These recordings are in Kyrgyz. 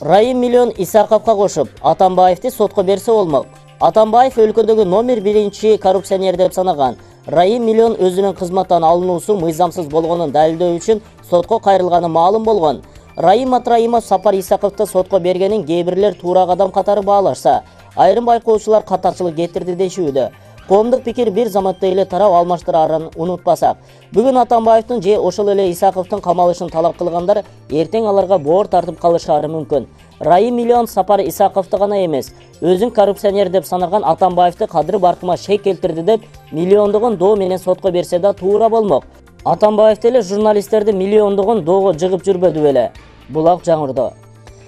Райым Миллион Исаковго кошуп, Атамбаевди сотко берсе болмок. Атамбаев өлкөдөгү номер 1 коррупционер деп санаган. Райым Миллион өзүнүн кызматтан алынуусу мыйзамсыз болгонун далилдөө үчүн сотко кайрылганы маалым болгон. Райым Атраимов Сапар Исаковду сотко бергенин кээ бирлер туура кадам катары баалашса, айрым байкоочулар катарчылык кетирди дешүүдө. Коомдук пикир бир заматта эле тарап алмаштырарын унутпасак. Бүгүн Атамбаевдин же ошол эле Исаковдун камалышын талап кылгандар эртең аларга боор тартып калышары мүмкүн. Райым Миллион Сапар Исаковду гана эмес, өзүн коррупционер деп санаган Атамбаевди кадыр баркыма шек келтирди деп миллиондогон доо менен сотко берсе да туура болмок. Атамбаев деле журналисттерди миллиондогон доого жыгып жүрбөдү беле. Булак жаңырды.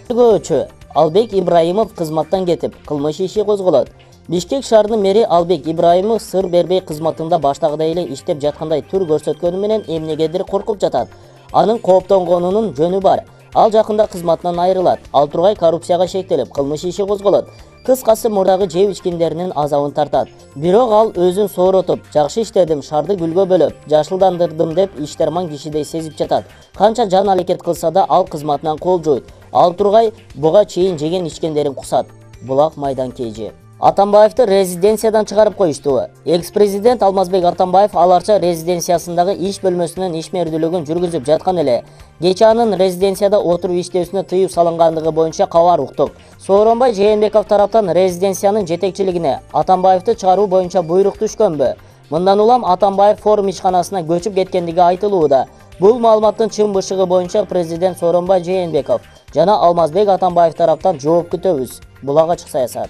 Көчө Албек Ибраимов кызматтан кетип, кылмыш иши козголот. Бишкек шаарынын мэри Албек Ибраимов сыр бербей кызматында баштагыдай эле иштеп жаткандай түр көрсөткөнү менен эмнегедир коркуп жатат. Анын кооптонгонунун жөнү бар. Ал жакында кызматынан айрылат. Ал тургай коррупцияга шектелип, кылмыш иши козголот. Кыскасы мурдагы жеп ичкиндеринин азабын тартат. Бирок ал өзүн сооротуп, жакшы иштедим, шарды гүлгө бөлөп, жашылдандырдым деп иштерман кишидей сезип жатат. Канча жан аракет кылса да ал кызматынан кол жойт. Ал тургай буга чейин жеген ичкендерин кусат. Булак майдан кейжи. Атамбаевди резиденциядан чыгарып коюшту. Экс-президент Алмазбек Атамбаев аларча резиденциясындагы иш бөлмөсүнүн ишмердүүлүгүн жүргүзүп жаткан эле. Кечээ анын резиденцияда отуруп иштөөсүнө тыюу салынгандыгы боюнча кабар уктук. Сооронбай Жээнбеков тараптан резиденциянын жетекчилигине Атамбаевди чыгаруу боюнча буйрук түшкөнбү? Мындан улам Атамбаев форум ишканасына көчүп кеткендиги айтылууда. Бул маалыматтын чын бышыгы боюнча президент Сооронбай Жээнбеков жана Алмазбек Атамбаев тараптан жооп күтөбүз. Булак ачык саясат.